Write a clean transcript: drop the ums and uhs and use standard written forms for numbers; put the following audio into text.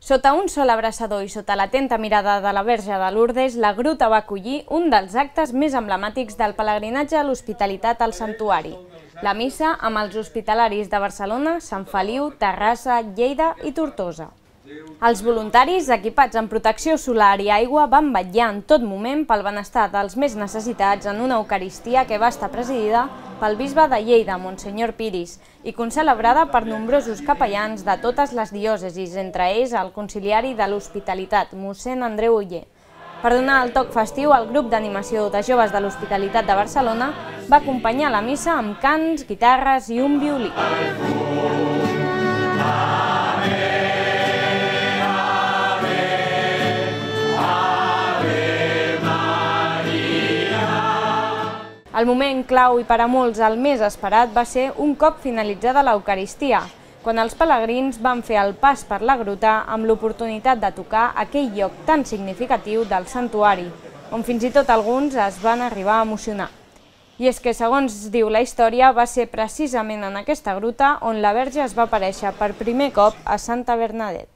Sota un sol abraçador i sota l'atenta mirada de la Verge de Lourdes, la gruta va acollir un dels actes més emblemàtics del pelegrinatge a l'hospitalitat al santuari. La missa amb els hospitalaris de Barcelona, Sant Feliu, Terrassa, Lleida i Tortosa. Els voluntaris, equipats en protecció solar i aigua, van vetllar en tot moment pel benestar dels més necessitats en una Eucaristia que va estar presidida pel bisbe de Lleida, Monsenyor Piris, i concelebrada per nombrosos capellans de totes les diòcesis, entre ells el conciliari de l'Hospitalitat, mossèn Andreu Oller. Per donar el toc festiu, el grup d'animació de joves de l'Hospitalitat de Barcelona va acompanyar la missa amb cants, guitarres i un violí. El moment clau i per a molts el més esperat va ser un cop finalitzada l'Eucaristia, quan els pelegrins van fer el pas per la gruta amb l'oportunitat de tocar aquell lloc tan significatiu del santuari, on fins i tot alguns es van arribar a emocionar. I és que, segons diu la història, va ser precisament en aquesta gruta on la Verge es va aparèixer per primer cop a Santa Bernadette.